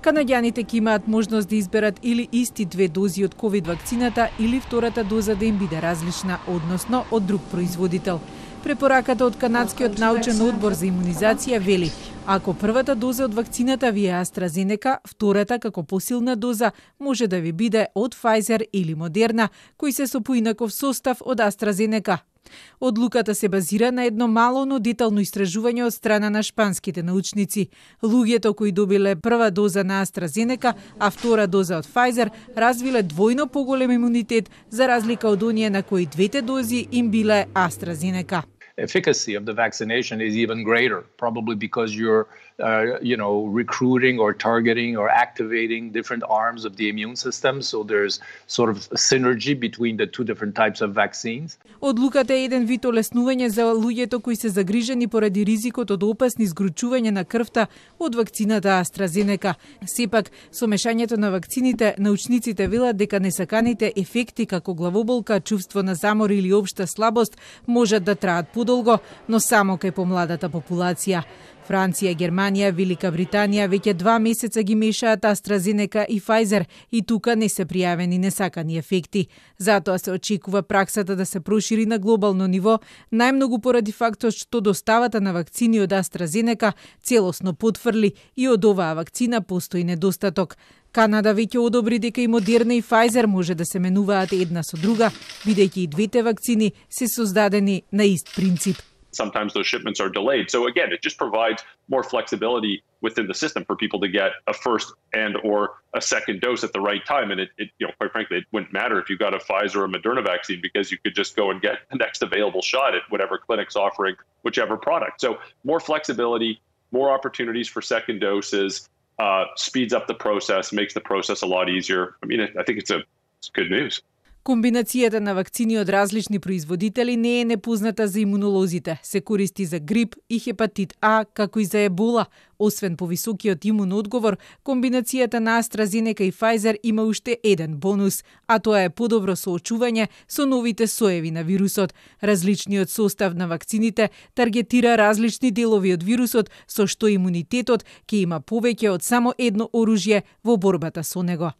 Канаѓаните ќе имаат можност да изберат или исти 2 дози од ковид вакцината или втората доза да им биде различна, односно од друг производител. Препораката од Канадскиот научен одбор за имунизација вели: ако првата доза од вакцината ви е AstraZeneca, втората како посилна доза може да ви биде од Pfizer или Moderna, кои се со поинаков состав од AstraZeneca. Одлуката се базира на едно мало, но детално истражување од страна на шпанските научници. Луѓето кои добиле прва доза на AstraZeneca, а втора доза од Pfizer, развиле двојно поголем имунитет за разлика од оние на кои двете дози им биле AstraZeneca. Efficacy of the vaccination is even greater, probably because you're, recruiting or targeting or activating different arms of the immune system. So there's sort of a synergy between the two different types of vaccines. Одлуката е еден вид олеснување за луѓето кои се загрижени поради ризикот од опасни згручување на крвта од вакцината AstraZeneca. Сепак, со мешањето на вакцините, научниците велат дека несаканите ефекти како главоболка, чувство на замор или општа слабост можат да траат подолго, но само кај помладата популација. Франција, Германија, Велика Британија веќе 2 месеца ги мешаат AstraZeneca и Pfizer и тука не се пријавени несакани ефекти. Затоа се очекува праксата да се прошири на глобално ниво, најмногу поради фактот што доставата на вакцини од AstraZeneca целосно потврли и од оваа вакцина постои недостаток. Канада веќе одобри дека и Moderna и Pfizer може да се менуваат една со друга, бидејќи и двете вакцини се создадени на ист принцип. Sometimes those shipments are delayed. So again, it just provides more flexibility within the system for people to get a first and or a second dose at the right time. And it quite frankly, it wouldn't matter if you got a Pfizer or a Moderna vaccine because you could just go and get the next available shot at whatever clinic's offering whichever product. So more flexibility, more opportunities for second doses, speeds up the process, makes the process a lot easier. I mean, I think it's good news. Комбинацијата на вакцини од различни производители не е непозната за имунолозите. Се користи за грип и хепатит А, како и за ебола. Освен повисокиот имун одговор, комбинацијата на AstraZeneca и Pfizer има уште еден бонус, а тоа е подобро соочување со новите соеви на вирусот. Различниот состав на вакцините таргетира различни делови од вирусот, со што имунитетот ќе има повеќе од само едно оружје во борбата со него.